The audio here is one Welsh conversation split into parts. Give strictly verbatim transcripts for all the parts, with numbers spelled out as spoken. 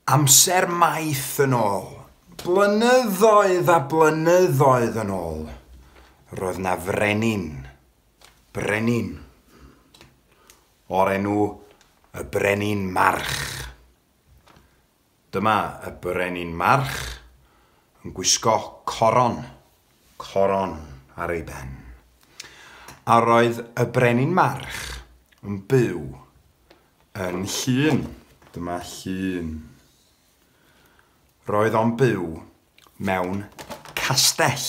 Amser maith yn ôl, blynyddoedd a blynyddoedd yn ôl, roedd 'na frenin, brenin, o'r enw y Brenin March. Dyma y Brenin March yn gwisgo coron, coron ar ei ben. A roedd y Brenin March yn byw yn Llŷn. Dyma Llŷn. Roedd o'n byw mewn castell.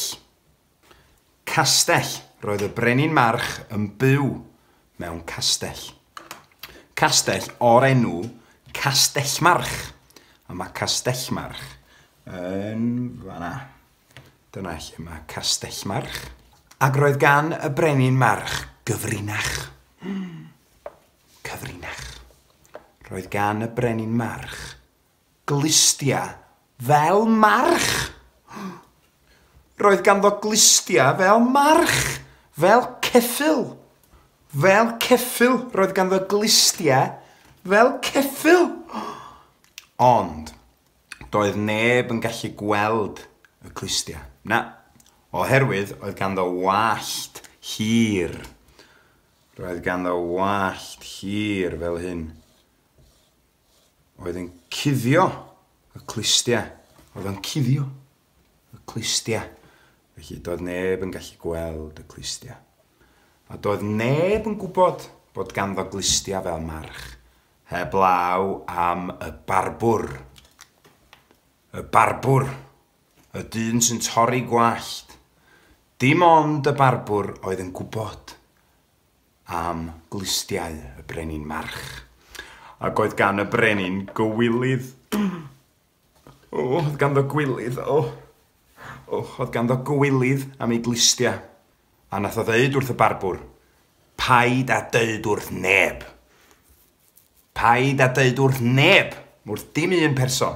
Castell. Roedd y Brenin March yn byw mewn castell. Castell o'r enw Castellmarch. A mae Castellmarch yn fan'na. Dyna lle mae Castellmarch. Ac roedd gan y Brenin March gyfrinach. Cyfrinach. Roedd gan y Brenin March glustia fel march. Roedd ganddo glustia fel march, fel ceffyl. Fel ceffyl. Roedd ganddo glustia fel ceffyl. Ond doedd neb yn gallu gweld y clustia. Na, oherwydd oedd ganddo wallt hir. Roedd ganddo wallt hir fel hyn. Oedd yn cuddio y clustia. Oedd o'n cuddio y clustia. Felly doedd neb yn gallu gweld y clustia. A doedd neb yn gwybod bod ganddo glustia fel march, heblaw am y barbwr. Y barbwr, y dyn sy'n torri gwallt. Dim ond y barbwr oedd yn gwybod am glustiau y Brenin March. Ac oedd gan y brenin gywilydd. O, oedd ganddo gwilydd, o. O, oedd ganddo gywilydd am ei glustia. A nath o ddeud wrth y barbwr, paid a deud wrth neb. Paid a deud wrth neb, wrth dim un person,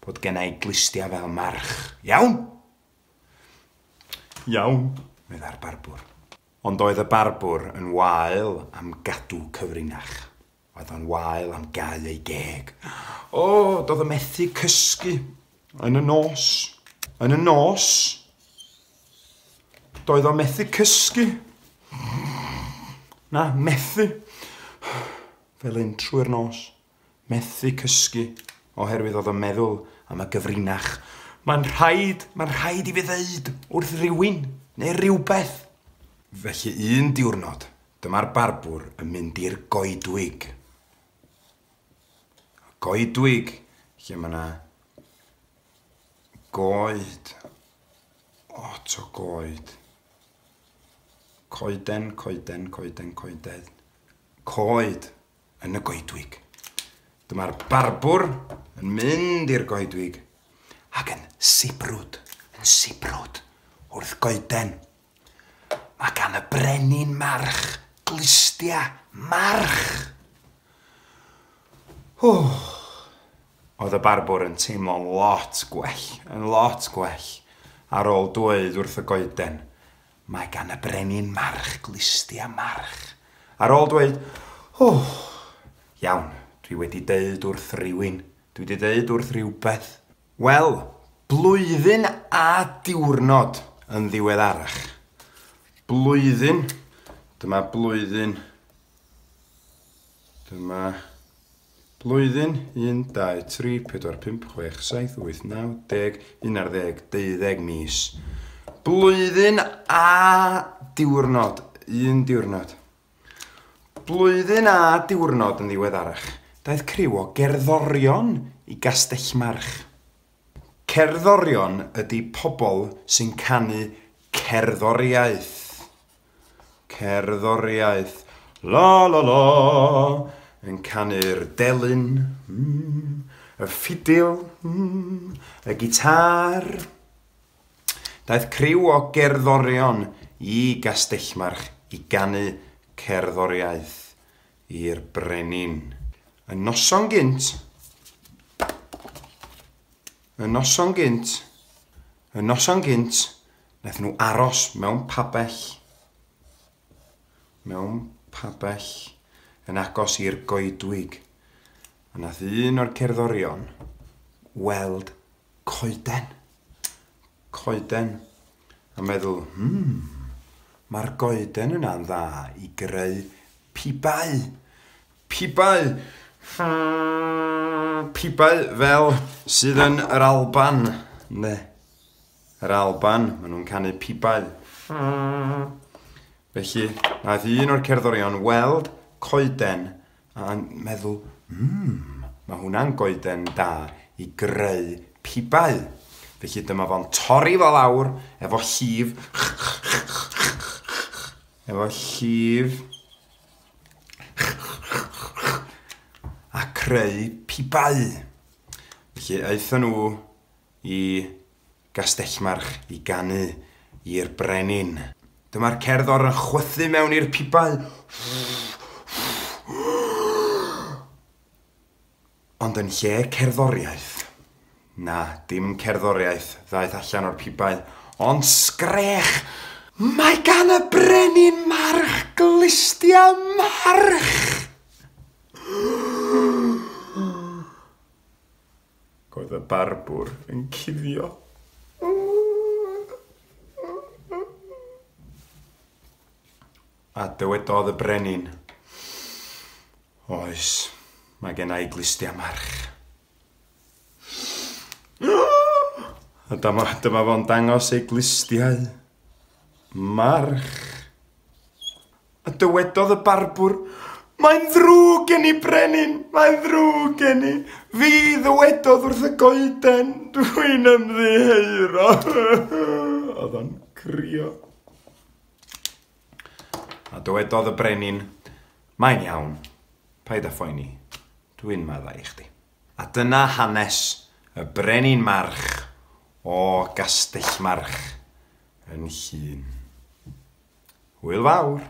bod genna i glustia fel march. Iawn? Iawn, meddai'r barbwr. Ond oedd y barbwr yn wael am gadw cyfrinach. Oedd o'n wael am gau ei geg. O, doedd o methu cysgu yn y nos. Yn y nos, doedd o methu cysgu. Na, methu. Fel un trwy'r nos. Methu cysgu, oherwydd oedd o'n meddwl am y gyfrinach. Mae'n rhaid, mae'n rhaid i fi ddeud wrth rywun neu rywbeth. Felly un diwrnod, dyma'r barbwr yn mynd i'r goedwig. Goedwig, lle mae yna goed, lot o goed. Coeden, coeden, coeden, coeden. Coed yn y goedwig. Dyma'r barbwr yn mynd i'r goedwig ac yn sibrwd, yn sibrwd wrth goeden. Mae gan y Brenin March glustia march. O, oedd y barbwr yn teimlo'n lot gwell, yn lot gwell, ar ôl dweud wrth y goeden, mae gan y Brenin March glustia march. Ar ôl dweud, o, iawn, dwi wedi deud wrth rywun, dwi wedi deud wrth rhywbeth. Wel, blwyddyn a diwrnod yn ddiweddarach. Blwyddyn, dyma blwyddyn, dyma blwyddyn, un, dau, tri, pedwar, pump, chwech, saith, wyth, naw, deg, un ar ddeg, deuddeg mis. Blwyddyn a diwrnod, un diwrnod. Blwyddyn a diwrnod yn ddiweddarach, daeth criw o gerddorion i Gastellmarch. Cerddorion ydy pobl sy'n canu cerddoriaeth. Cerddoriaeth, la la la, yn canu'r delyn, mm, y ffidil, mm, y gitar. Daeth criw o gerddorion i Gastellmarch i ganu cerddoriaeth i'r brenin. Y noson gynt, y noson gynt, y noson gynt, wnaethon nhw aros mewn pabell, mewn pabell yn agos i'r goedwig. A nath un o'r cerddorion weld coeden. Coeden. A meddwl, hmm, mae'r goeden yna'n dda i greu pibau. Pibau. Pibau fel sydd yn yr Alban. Ne. Yr Alban, maen nhw'n canu pibau. Felly, nath un o'r cerddorion weld coeden a meddwl, hmm, mae hwnna'n goeden da i greu pibau. Felly dyma fo'n torri fo lawr efo llif. Efo llif. A creu pibau. Felly aethon nhw i Gastellmarch i ganu i'r brenin. Dyma'r cerddor yn chwythu mewn i'r pibau. Ond yn lle cerddoriaeth, na, dim cerddoriaeth ddaeth allan o'r pibau, ond sgrech! Mae gan y brenin march glustia march! Oedd y barbwr yn cuddio. A dywedodd y brenin, oes, mae gen i glustia march. A dyma, dyma fo'n dangos ei glustiau. March. A dywedodd y barbwr, mae'n ddrwg gen i brenin, mae'n ddrwg gen i. Fi ddywedodd wrth y goeden, dwi'n ymddiheuro. Oedd o'n crio. A dywedodd y brenin, mae'n iawn, paid â phoeni, dwi'n maddau i chdi. A dyna hanes y brenin march o Gastellmarch yn Llŷn. Hwyl fawr!